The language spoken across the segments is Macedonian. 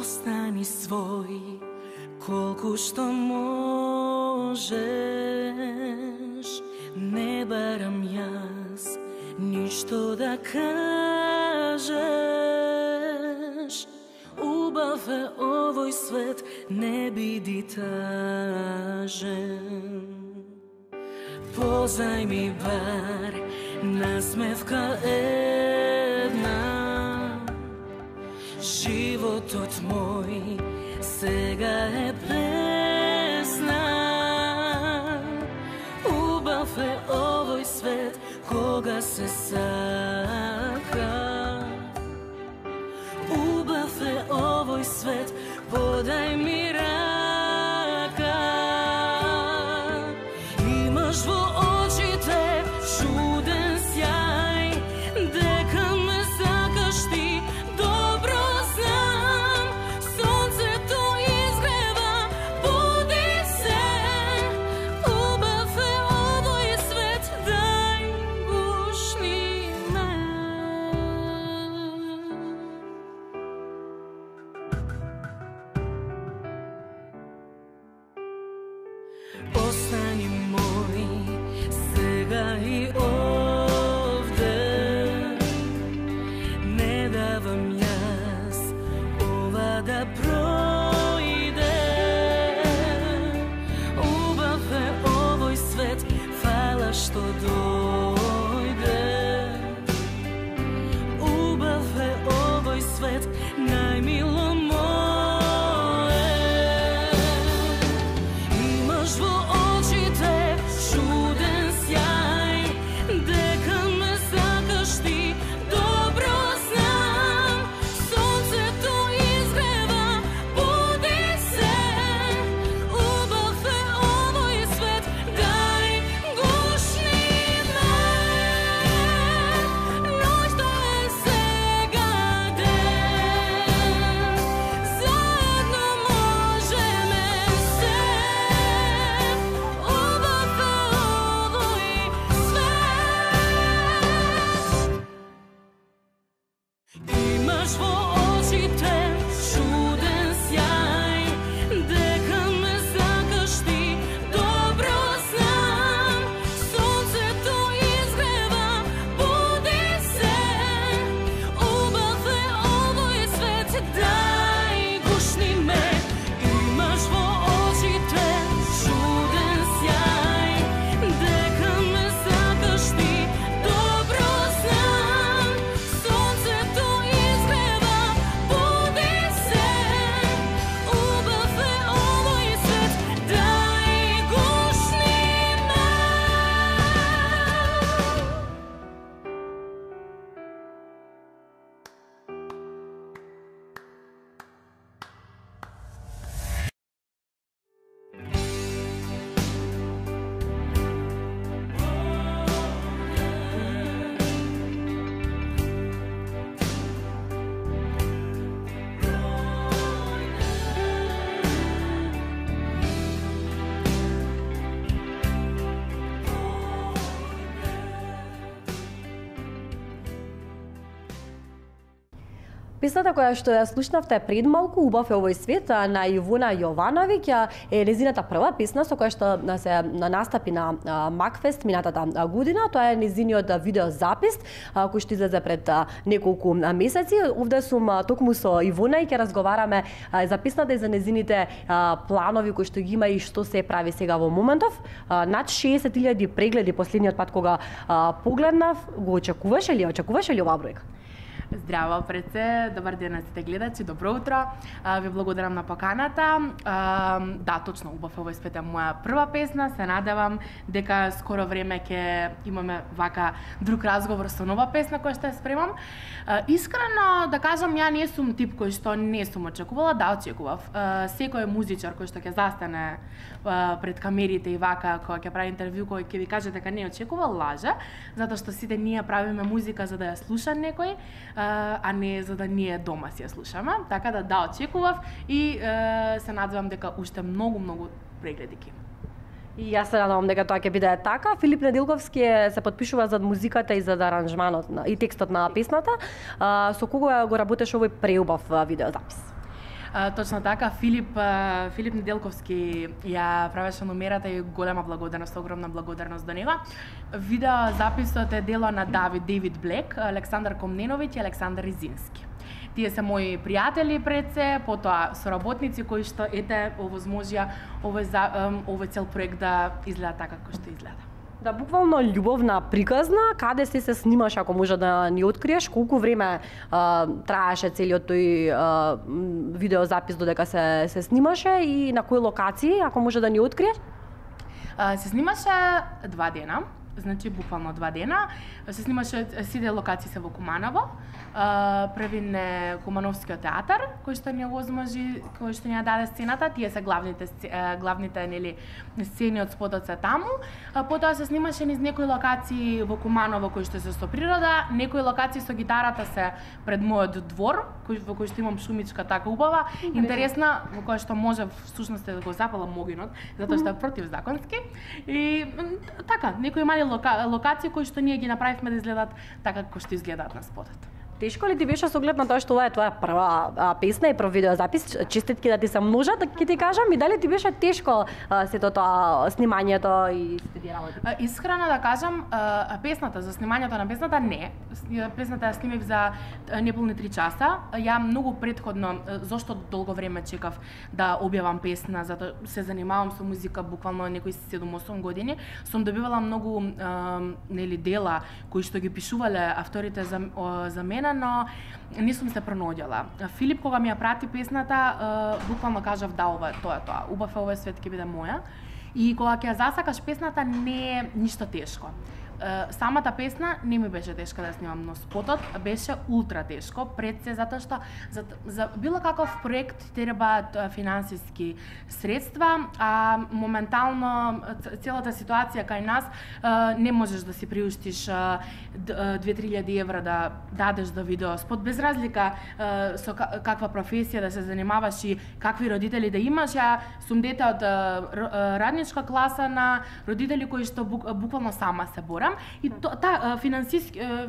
Остани свој колку што можеш. Не барам јас ништо да кажеш. Убав е овој свет, не биди тажен. Позајми бар насмевка една. Животот мој сега е песна. Убав е овој свет кога се сака. Убав е овој свет, подај ми рака. Имаш во очите чуден сјај, дека ме сакаш ти, добро знам. Сонцето изгрева, буди се. Убав е овој свет, дај гушни ме. Остани мој сега и овде. Не давам јас ова да пројде. Убав е овој свет, фала што дојде. Убав е овој свет, најмило мое. Имаш во очите чуден сјај, дека ме сакаш ти, добро знам. Сонцето изгрева, буди се. Убав е овој свет, дај гушни ме. Ноќта е сега ден, заедно можеме се. Убав е овој свет. Имаш во очите чуден сјај, дека ме сакаш ти, добро знам. Сонцето изгрева, буди се. Убав е овој свет, дај гушни ме. Имаш во очите чуден сјај, дека ме сакаш ти, добро знам. Сонцето изгрева, буди се. Убав е овој свет, дај гушни ме. Песната која што ја слушнавте пред малку, Убав е овој свет, на Ивона Јовановиќ, е незината прва песна со која што се настапи на Макфест минатата година. Тоа е незиниот видеозапис кој што излезе пред неколку месеци. Овде сум токму со Ивона и ќе разговараме за песната и за незините планови кои што ги има и што се прави сега во моментов. Над 60.000 прегледи последниот пат кога погледнав. Го очекуваше ли оваа бројка? Здраво пред се, добар ден на сите гледачи, добро утро. Ви благодарам на поканата. Да, точно, Убав е овој свет е моја прва песна. Се надевам дека скоро време ќе имаме вака друг разговор со нова песна која што ја спремам. Искрено да кажам, ја не сум тип кој што не сум очекувала, да очекував. Секој музичар кој што ќе застане пред камерите и вака кога ќе прави интервју, кој ќе ви каже дека не очекувал, лаже, затоа што сите ние правиме музика за да ја слуша некој, а не за да ние дома си ја слушаме. Така да очекував и се надевам дека уште многу прегледи ќе има. И јас се надевам дека тоа ќе биде така. Филип Недилковски се подпишува за музиката и за аранжманот и текстот на песната. Со кого го работеше овој преубав видеозапис? Точно така, Филип Неделковски ја правеше номерата и голема благодарност, огромна благодарност до него. Видео записот е дело на Дейвид Блек, Александар Комненовиќ и Александар Ризински. Тие се мои пријатели пред се, потоа соработници кои што овозможија овој цел проект да изгледа така како што изгледа. Да, буквално љубовна приказна, каде се снимаш, ако може да ни откриеш, колку време траеше целиот тој видеозапис додека се снимаше и на кои локации, ако може да ни откриеш? Се снимаше 2 дена, значи буквално 2 дена. Се снимаше, сите локации се во Куманово. Првин е Кумановскиот театар, кој што ни овозможи, кој што ни ја даде сцената, тие се главните нели сцени од спотот се таму. Потоа се снимаше низ некои локации во Куманово кои што се со природа, некои локации со гитарата се пред мојот двор, во кој што имам шумичка така убава, интересна, во која што може всушност да го запала могинот, затоа што е противзаконски. И така, некои мали локации кои што ние ги направивме да изгледат така како што изгледаат на спотот. Тешко ли ти беше со оглед на тоа што ова е твоја прва песна и прв видеозапис? Честитки да ти се множат, ќе ти кажам, и дали ти беше тешко сето тоа снимањето и сите работи? Искрено да кажам, песната, за снимањето на песната не. Песната ја снимив за неполни 3 часа. Ја многу претходно, зошто долго време чекав да објавам песна, затоа се занимавам со музика буквално некои 7-8 години, сум добивала многу нели дела кои што ги пишувале авторите за мене, но не сум се пронаоѓала. Филип кога ми ја прати песната, буквално кажав да, ова е тоа. Убав е овој свет ќе биде моја. И кога ќе ја засакаш песната не е ништо тешко. Самата песна не ми беше тешка да снимам, но спотот беше ултра тешко, пред се затоа што за било каков проект требаат финансиски средства, а моментално целата ситуација кај нас не можеш да си приуштиш 2-3 евра да дадеш за видеоспот, без разлика со каква професија да се занимаваш и какви родители да имаш. Ја сум дете од радничка класа на родители кои што буквално сама се борам. И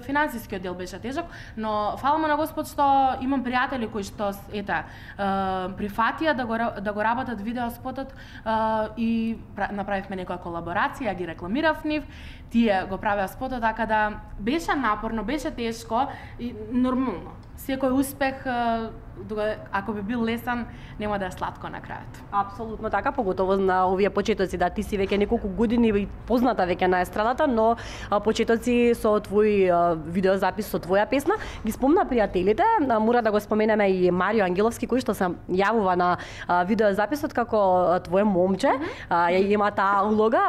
финансискиот дел беше тежок, но фала му на Господ што имам пријатели кои што прифатија да го работат видеоспотот и направивме некоја колаборација, ги рекламирав нив, тие го правеа спотот, така да беше напорно, беше тешко и нормално. Секој успех, ако би бил лесен, нема да е сладко на крајот. Апсолутно така, поготово на овие почетоци, да ти си веќе неколку години и позната веќе на естрадата, но почетоци со твој видеозапис, со твоја песна, ги спомна пријателите, мора да го споменеме и Марио Ангеловски, кој што се јавува на видеозаписот како твое момче, има таа улога.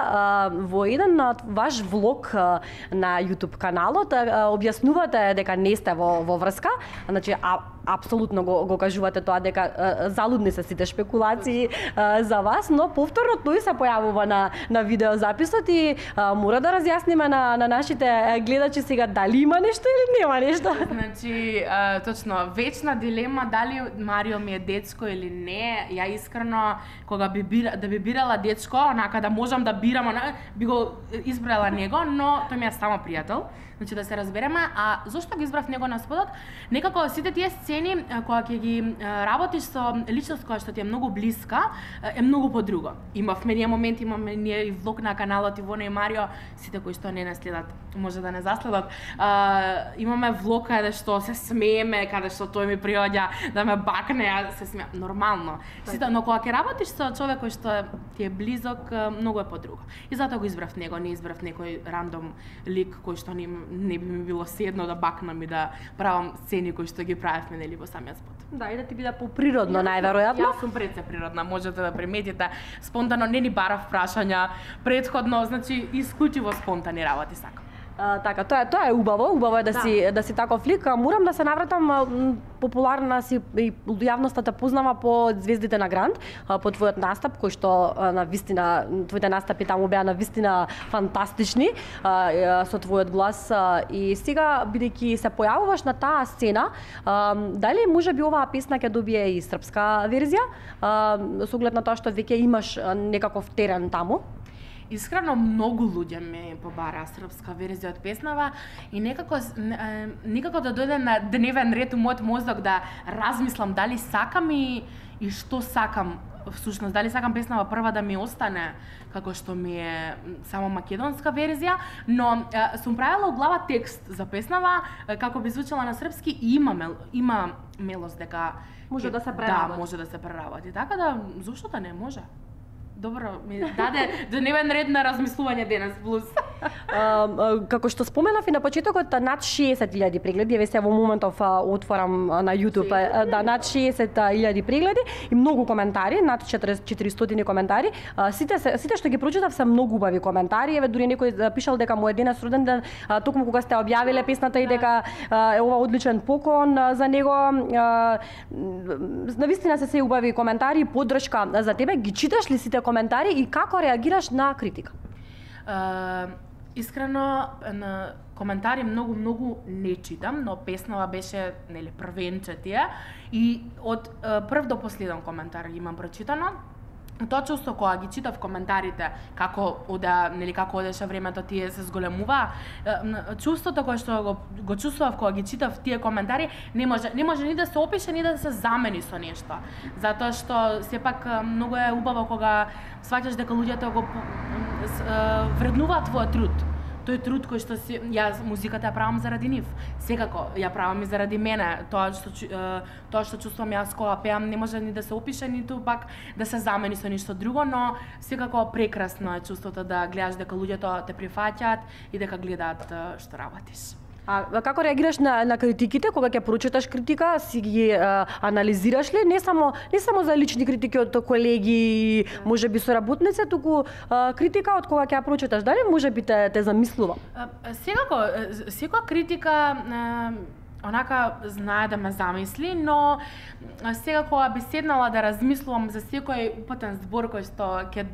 Во еден ваш влог на YouTube каналот објаснувате дека не сте во врска, значи апсолутно го кажувате тоа дека залудни се сите шпекулации за вас, но повторно тој се појавува на видеозаписот и мора да разјасниме на нашите гледачи сега дали има нешто или нема нешто. Значи, точно, вечна дилема дали Марио ми е дечко или не. Ја искрено кога би бирала дечко, онака да можам да бирам, би го избрала него, но тој ми е само пријател. Значи да се разбереме, а зошто ги избрав него на спотот? Некако сите тие сцени кога ќе ги работиш со личност која што ти е многу блиска, е многу подруго. Имавме ние моменти, имаме ние и влог на каналот Ивона и Марио, сите кои што не нас следат, може да не заследат. Имаме влог каде што се смееме, каде што тој ми приоѓа да ме бакне, а се смеам нормално. Сите, но кога ќе работиш со човек кој што ти е близок, многу е подруго. И затоа го избрав него, не избрав некој рандом лик кој што не би ми било седно да бакнам и да правам сцени кои што ги правевме нели во самиот спот. Да, и да ти биде поприродно најверојатно. Јас сум пред се природна, можете да приметите. Спонтано не ни барав прашања претходно, значи исклучиво спонтани работи сакам. Така, тоа е убаво е да си таков лик. Морам да се навратам, популарна си и јавноста те познава по Звездите на Гранд, по твојот настап кој што на вистина твоите настапи таму беа на вистина фантастични со твојот глас и сега бидејќи се појавуваш на таа сцена, дали можеби оваа песна ќе добие и српска верзија со оглед на тоа што веќе имаш некаков терен таму? Искрено многу луѓе ми побара српска верзија од песнава и никако да дојде на дневен ред у мојот мозок да размислам дали сакам и што сакам. Всушност, дали сакам песнава прва да ми остане како што ми е само македонска верзија, но сум правила у глава текст за песнава како би звучала на српски и има мелост дека може да се преработи. Да, може да се преработи. Така да зошто да не може? Добро, ми даде дневен ред на размислување денес плюс. Како што споменав и на почетокот, над 60.000 прегледи, еве сега во моментов отворам на YouTube, да, над 60.000 прегледи и многу коментари, над 400 коментари. Сите што ги прочитав се многу убави коментари, еве дури некој пишал дека му е денес роден ден, токму кога сте објавиле песната и дека е ова одличен поклон за него. Навистина се убави коментари и поддршка за тебе. Ги читаш ли сите коментари и како реагираш на критика? Искрено на коментари многу не читам, но песнава беше нели првенче и од прв до последен коментар имам прочитано. Тоа чувство кога ги читав коментарите, како одеше времето, тие се зголемува, чувството кое што го чувствував кога ги читав тие коментари, не може ни да се опише, ни да се замени со нешто. Затоа што сепак многу е убаво кога сваќаш дека луѓето го вреднуваат твојот труд. Тој труд кој што јас музиката ја правам заради нив. Секако ја правам и заради мене. Тоа што чувствувам јас кога пеам не може ни да се опише, ниту пак да се замени со ништо друго, но секако прекрасно е чувството да гледаш дека луѓето те прифаќаат и дека гледаат што работиш. А како реагираш на критиките кога ќе прочиташ критика, си ги анализираш ли не само за лични критики од колеги, можеби соработници, туку критика од кога ќе ја прочиташ, дали можеби те замислува? Секоја критика онака знае да ме замисли, но сега кога би седнала да размислувам за секој упатен збор кој што ќе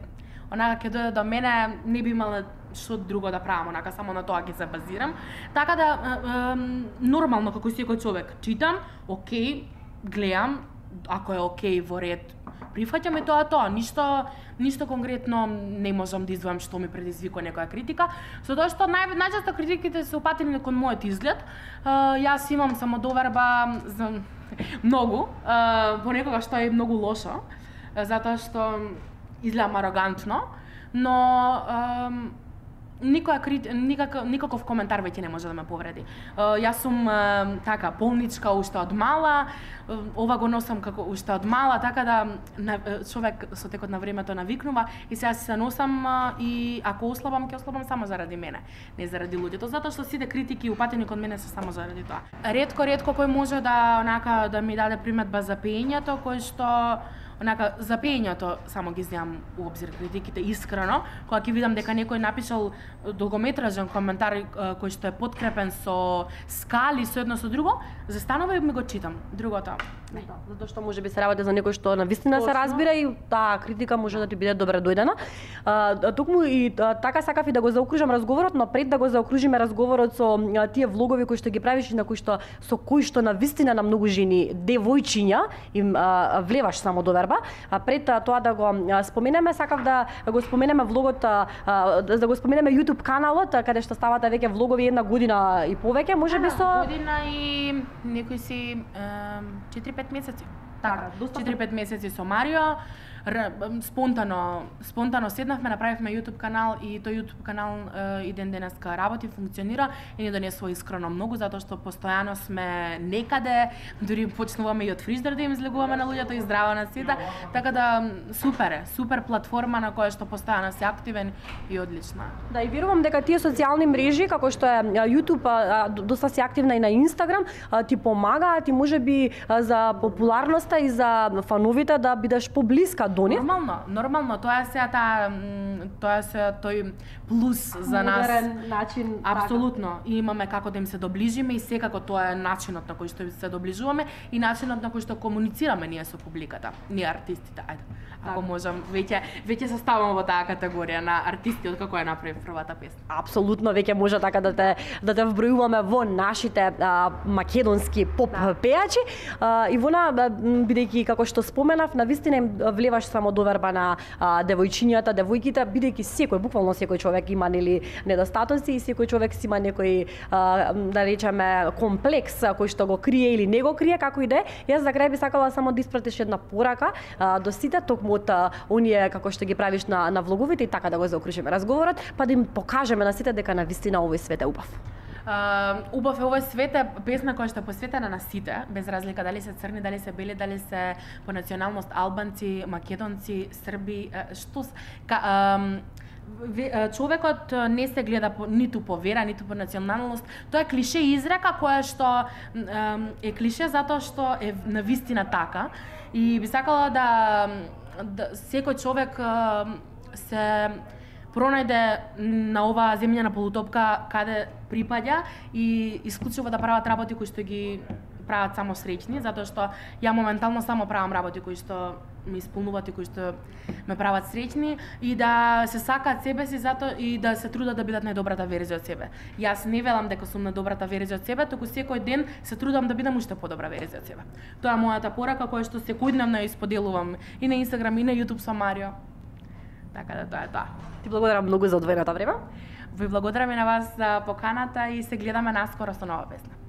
дојде до мене, не би имала што друго да правам, онака само на тоа ќе се базирам. Така да нормално како секој човек читам, окей, гледам, ако е окей во ред, прифаќам и тоа, ништо конкретно не можам да извојам што ми предизвикува некоја критика, затоа што најчесто критиките се упатени кон мојот изглед. Јас имам самодоверба за многу, понекогаш што е многу лошо, затоа што изгледам арогантно, но никаков коментар веќе не може да ме повреди. Јас сум така полничка уште од мала, ова го носам како уште од мала, така да човек со текот на времето навикнува и сега се носам и ако ослабам, ќе ослабам само заради мене, не заради луѓето, затоа што сите критики упатени кон мене се само заради тоа. Ретко кој може да ми даде приметба за пеењето, кој што за пеењето само ги земам у обзир критиките искрено, кога ќе видам дека некој напишал долгометражен коментар кој што е подкрепен со скали, со едно со друго, застанува и ми го читам. Другото не. Затоа што можеби се работи за некој што навистина се разбира и таа критика може да ти биде добре дојдена. Токму и така сакав и да го заокружам разговорот, но пред да го заокружиме разговорот со тие влогови кои што ги правиш и со кои што навистина на многу жени, девојчиња им влеваш само доверба. Пред тоа да го споменеме, сакав да го споменеме влогот, да го споменеме YouTube каналот, каде што ставате веќе влогови 1 година и повеќе, можеби со година и некои си 4-5 месеци. Така, 4-5 месеци со Марио. Спонтано седнавме, направивме YouTube канал и тој YouTube канал и ден денеска работи, функционира и ни донесува искрено многу, затоа што постојано сме некаде, дури почнуваме и од фриждер да им излегуваме на луѓето и здраво на сите, така да супер платформа на која што постојано се активен и одлична. Да, и верувам дека тие социјални мрежи, како што е YouTube, доста си активна и на Instagram, ти помагаат и можеби за популарноста и за фановите да бидеш поблиска до нив. Нормално, тоа е тој плюс за нас. Модерен начин. Апсолутно. И имаме како да им се доближиме и секако тоа е начинот на кој што се доближуваме и начинот на кој што комуницираме ние со публиката, ние артистите. Ако можам, веќе се ставаме во таа категорија на артисти од како ја направи првата песна. Апсолутно, веќе може така да те вбројуваме во нашите македонски поп пејачи. Ивона, бидејќи како што споменав, навистина им влеваш немаш само доверба на девојчињата, девојките, бидејќи секој, буквално секој човек има нели недостатоци и секој човек си има некој да речеме комплекс кој што го крие или не го крие, како и да е. Јас за крај би сакала само да испратиш една порака до сите, токму од оние како што ги правиш на влоговите и така да го заокружиме разговорот, па да им покажеме на сите дека навистина овој свет е убав. Убав е овој свет е песна која што е посветена на сите, без разлика дали се црни, дали се бели, дали се по националност албанци, македонци, срби, човекот не се гледа ниту по вера, ниту по националност. Тоа е клише изрека која што е клише затоа што е навистина така. И би сакала да секој човек се пронајде на оваа земја на полутопка каде припаѓа и исклучува да прават работи кои што ги прават само среќни, затоа што ја моментално само правам работи кои што ме исполнуваат и кои што ме прават среќни и да се сакаат себе си затоа и да се трудат да бидат најдобрата верзија од себе. Јас не велам дека сум најдобрата верзија од себе, туку секој ден се трудам да бидам уште подобра верзија од себе. Тоа е мојата порака која што секојдневно ја исподелувам и на Инстаграм и на YouTube со Марио. Така да тоа е тоа. Ти благодарам многу за одвоеното време. Ви благодарам и на вас за поканата и се гледаме наскоро со нова песна.